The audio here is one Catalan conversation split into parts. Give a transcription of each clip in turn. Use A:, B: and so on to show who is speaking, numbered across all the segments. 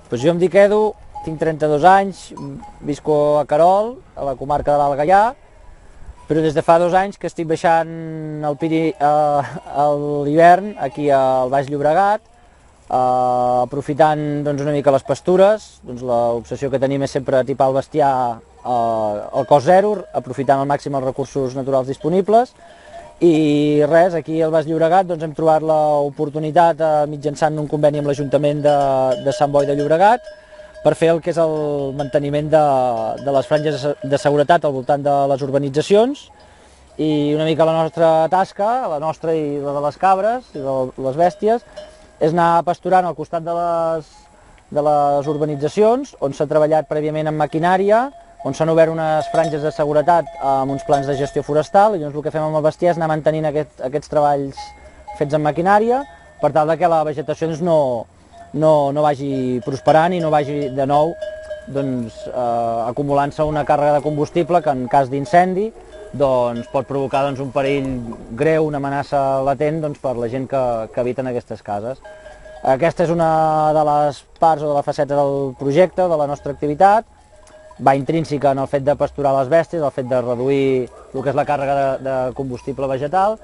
A: Doncs jo em dic Edu, tinc 32 anys, visco a Querol, a la comarca de l'Alt Gaià, però des de fa 2 anys que estic baixant a l'hivern aquí al Baix Llobregat, aprofitant una mica les pastures. L'obsessió que tenim és sempre atipar el bestiar al cost zero, aprofitant al màxim els recursos naturals disponibles. I res, aquí al Baix Llobregat hem trobat l'oportunitat mitjançant un conveni amb l'Ajuntament de Sant Boi de Llobregat per fer el que és el manteniment de les franges de seguretat al voltant de les urbanitzacions, i una mica la nostra tasca, la nostra i la de les cabres i de les bèsties, és anar pasturant al costat de les urbanitzacions on s'ha treballat prèviament amb maquinària, on s'han obert unes franges de seguretat amb uns plans de gestió forestal, i llavors el que fem amb el bestiar és anar mantenint aquests treballs fets amb maquinària per tal que la vegetació no vagi prosperant i no vagi de nou acumulant-se una càrrega de combustible que en cas d'incendi pot provocar un perill greu, una amenaça latent per la gent que habita en aquestes cases. Aquesta és una de les parts o de la faceta del projecte, de la nostra activitat. Va intrínseca en el fet de pasturar les bèsties, el fet de reduir el que és la càrrega de combustible vegetal,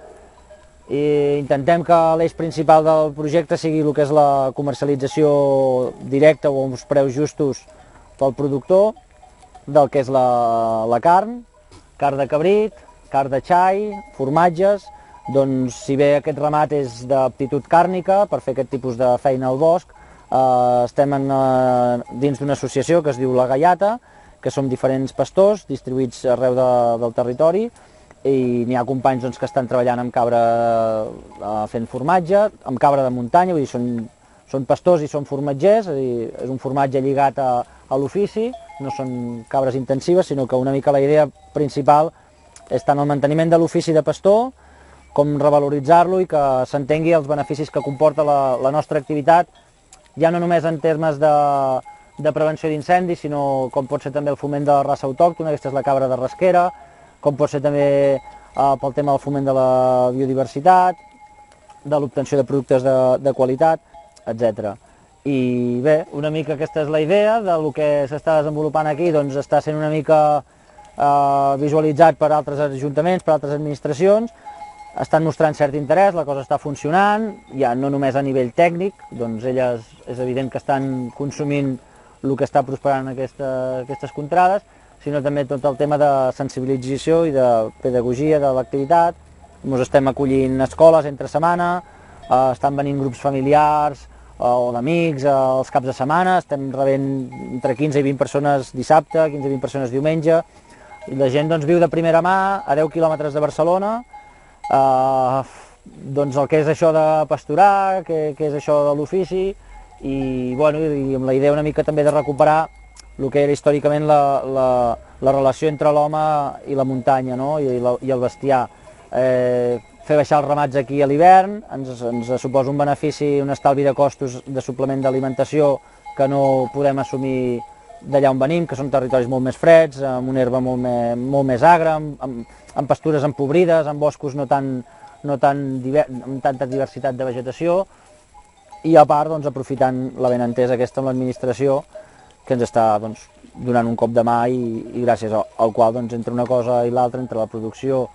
A: i intentem que l'eix principal del projecte sigui el que és la comercialització directa o uns preus justos pel productor del que és la carn de cabrit, carn de xai, formatges. Si bé aquest ramat és d'aptitud càrnica per fer aquest tipus de feina al bosc, estem dins d'una associació que es diu La Gaiata, que som diferents pastors distribuïts arreu del territori, i n'hi ha companys que estan treballant amb cabra fent formatge, amb cabra de muntanya, vull dir, són pastors i són formatgers, és un formatge lligat a l'ofici, no són cabres intensives, sinó que una mica la idea principal és tant el manteniment de l'ofici de pastor com revaloritzar-lo i que s'entengui els beneficis que comporta la nostra activitat, ja no només en termes de prevenció d'incendis, sinó com pot ser també el foment de la raça autòctona, aquesta és la cabra de rasquera, com pot ser també pel tema del foment de la biodiversitat, de l'obtenció de productes de qualitat, etc. I bé, una mica aquesta és la idea del que s'està desenvolupant aquí, està sent una mica visualitzat per altres ajuntaments, per altres administracions, estan mostrant cert interès, la cosa està funcionant, ja no només a nivell tècnic, elles és evident que estan consumint el que està prosperant en aquestes contrades, sinó també tot el tema de sensibilització i de pedagogia de l'activitat. Ens estem acollint escoles entre setmana, estan venint grups familiars o d'amics els caps de setmana, estem rebent entre 15 i 20 persones dissabte, 15 i 20 persones diumenge, i la gent viu de primera mà a 10 quilòmetres de Barcelona, el que és això de pasturar, que és això de l'ofici, i amb la idea una mica també de recuperar el que era històricament la relació entre l'home i la muntanya i el bestiar. Fer baixar els ramats aquí a l'hivern ens suposa un benefici, un estalvi de costos de suplement d'alimentació que no podem assumir d'allà on venim, que són territoris molt més freds, amb una herba molt més agra, amb pastures empobrides, amb boscos amb tanta diversitat de vegetació, i a part aprofitant la benentesa aquesta amb l'administració, que ens està donant un cop de mà i gràcies al qual entre una cosa i l'altra, entre la producció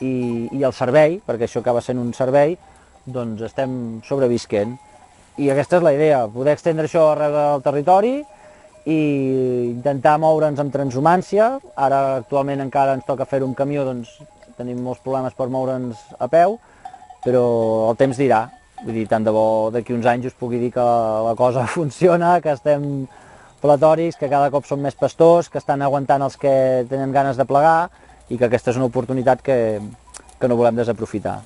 A: i el servei, perquè això acaba sent un servei, estem sobrevisquent. I aquesta és la idea, poder extendre això arreu del territori i intentar moure'ns amb transhumància. Ara actualment encara ens toca fer-ho amb camió, tenim molts problemes per moure'ns a peu, però el temps dirà. Vull dir, tant de bo d'aquí uns anys us pugui dir que la cosa funciona, que estem platòrics, que cada cop són més pastors, que estan aguantant els que tenen ganes de plegar i que aquesta és una oportunitat que no volem desaprofitar.